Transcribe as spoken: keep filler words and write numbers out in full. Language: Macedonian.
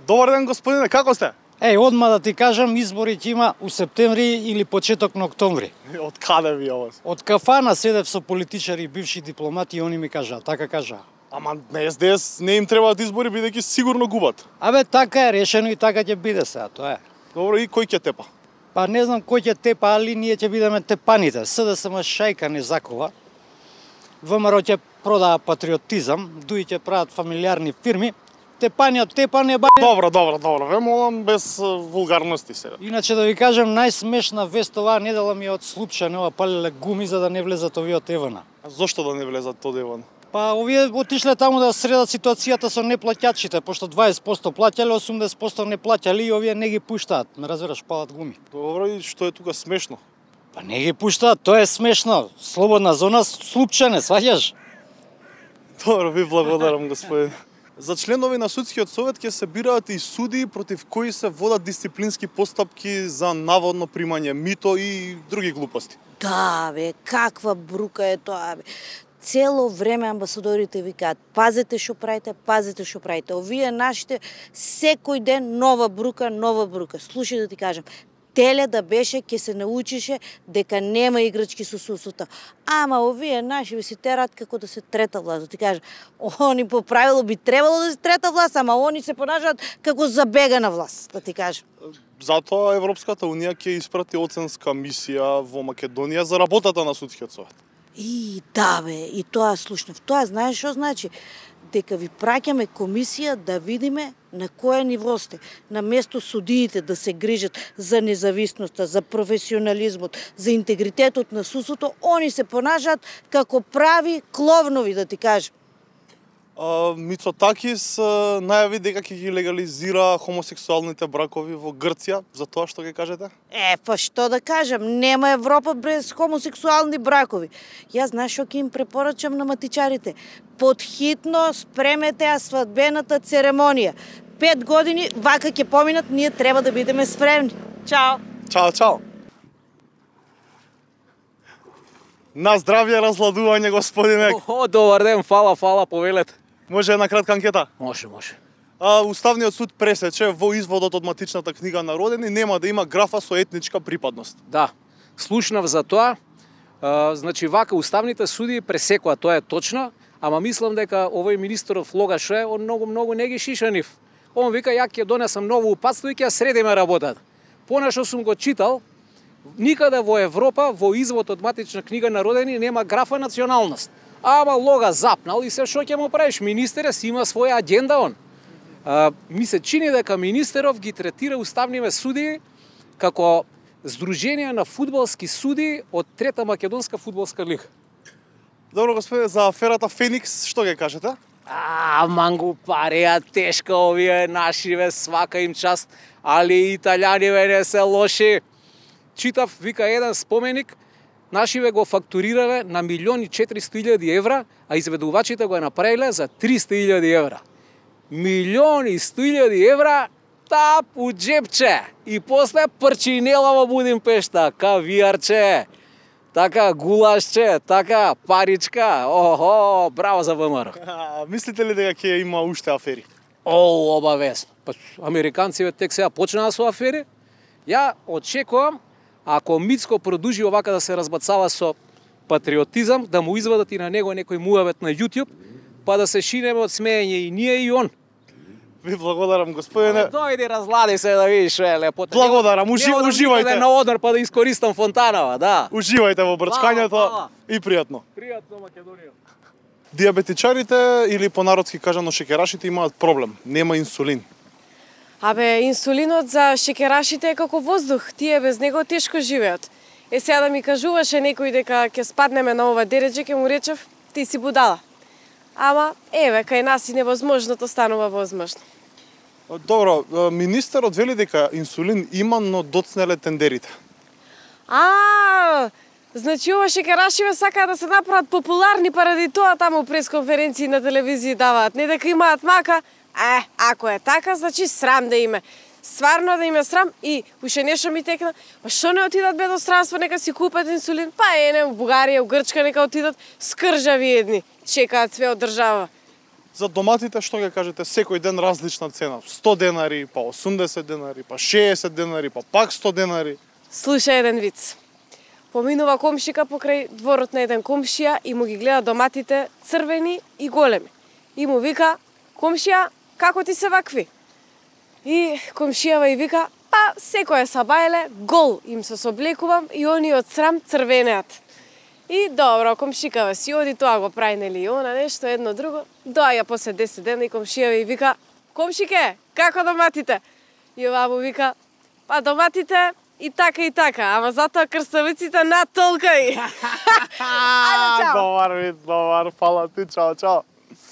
Добар ден, господине, како сте? Еј, одма да ти кажам, избори ќе има у септември или почеток на октомври. Од каде ви ова? Од кафана седев со политичари, бивши дипломати и они ми кажаа, така кажаа. Ама на Ес Де Ес не им требаат избори, бидејќи сигурно губат. Абе, така е решено и така ќе биде сега, тоа е. Добро, и кој ќе тепа? Па не знам кој ќе тепа, али ние ќе бидеме тепаните. С Д С М шајка не закова. В М Р ќе продава патриотизам, дуи ќе прават фамилиарни фирми. Тепање, тепање, ба... Добро, добро, добро, ве молам без вулгарности сега. Иначе да ви кажем, најсмешна вест оваа недела ми е од Слупчане, ова палеле гуми за да не влезат овие од Евана. А зошто да не влезат од Еван? Па овие отишле таму да средат ситуацијата со неплаќачите, пошто дваесет проценти плаќале, осумдесет проценти не плаќале и овие не ги пуштаат. Ме разбираш, палат гуми. Добро, и што е тука смешно? Па не ги пуштаат, тоа е смешно. Слободна зона Слупчане, сваќаш? Добро, ви благодарам, господин. За членови на судскиот совет ќе се бираат и суди против кои се водат дисциплински постапки за наводно примање мито и други глупости. Да, бе, каква брука е тоа, бе. Цело време амбасадорите викаат, пазете што правите, пазете што правите. Овие нашите секој ден нова брука, нова брука. Слушај да ти кажам, теле да беше, ќе се научише дека нема играчки со сусута. Ама овие наши ви се терат како да се трета власт. Да ти кажам, они по правило би требало да се трета власт, ама они се понажат како забегана власт, да ти кажам. Затоа Европската унија ќе испрати оценска мисија во Македонија за работата на судскиот совет. И да бе, и тоа слушнав. Тоа знаеш што значи? Дека ви праќаме комисија да видиме на кое ниво сте. На место судиите да се грижат за независноста, за професионализмот, за интегритетот на судството, они се понажат како прави кловнови, да ти кажам. А, Мицотакис најави дека ќе ги легализира хомосексуалните бракови во Грција, за тоа што ќе кажете? Е, па што да кажам, нема Европа без хомосексуални бракови. Јас знаеш што ќе им препорачам на матичарите? Подхитно спремете ја свадбената церемонија. Пет години вака ќе поминат, ние треба да бидеме спремни. Чао! Чао, чао! На здравје разладување, господине! О, добар ден, фала, фала, повелете. Може една кратка анкета? Може, може. А, Уставниот суд пресече во изводот од матичната книга на родени нема да има графа со етничка припадност. Да, слушнав за тоа. А, значи, вака, уставните суди пресекоа, тоа е точно, ама мислам дека овој министеров Логаше, он многу, многу не ги шиша нив. Он вика, ја ќе донесам ново упатство и ќе средиме работата. Понашто сум го читал, никаде во Европа, во извод од матична книга на родени, нема графа националност. Ама Лога запнал и се што ќе му правиш? Министерот си има своја агенда он. А, ми се чини дека министеров ги третира уставниве суди како здружение на фудбалски суди од трета македонска фудбалска лига. Добро, господине, за аферата Феникс, што ќе кажете? А, мангу пареа тешка овие нашиве, свака им част, али италијаниве не се лоши. Читав, вика, еден споменик, нашиве го фактурирале на милиони четиристо илјади евра, а изведувачите го направиле за триста илјади евра. Милиони сто илјади евра, тап у джепче. И после прчинела во Будимпешта, кавиарче, така гулашче, така паричка. Охо, браво за В М Р. А, мислите ли дека ќе има уште афери? О, обавесно. Па, американците тек сега почнаа со афери. Ја очекувам, ако Мицко продужи овака да се разбацава со патриотизам, да му извадат и на него некој муавет на YouTube, па да се шинеме од смеење и ние и он. Ви благодарам, господине. Дојди, разлади се да видиш што е лепота. Благодарам, ужи, Не одам уживајте. никаде на одмор па да искористам фонтанава, да. Уживајте во брчкањето Фала, фала. и пријатно. Пријатно, Македонија. Диабетичарите или понародски кажано шекерашите имаат проблем, нема инсулин. Абе, инсулинот за шекерашите е како воздух, тие без него тешко живеат. Е, сега да ми кажуваше некој дека ќе спаднеме на ова дередже, ќе му речев, ти си будала. Ама, еве, кај нас и невозможното станува возможно. Добро, министерот вели дека инсулин има, но доцнеле тендерите. А, значи ова шекерашиве сакаат да се направат популарни паради тоа таму пресконференции на телевизија даваат. Не дека имаат мака, е, ако е така, значи срам да име. Сварно да име срам и уште нешто ми текна, па што не отидат бе до странство, нека си купат инсулин, па е, не, у Бугарија, у Грчка нека отидат, скржави едни, чекаат све од држава. За доматите што ќе кажете, секој ден различна цена, сто денари, па осумдесет денари, па шеесет денари, па пак сто денари. Слушај еден виц. Поминува комшика покрај дворот на еден комшија и му ги гледа доматите црвени и големи. И му вика: "Комшија, како ти се вакви?" И комшијава и вика: "Па, секоја сабајле, гол им се соблекувам и они од срам црвенеат." И добро, комшикава си оди, тоа го прави, нели, и она нешто, едно друго. Доаѓа после десет дена и комшијава и вика: "Комшике, како доматите?" И ова му вика: "Па доматите и така и така, ама затоа крставиците над толка и." Ајде, чао. Добар вид, добар, фала ти, чао, чао.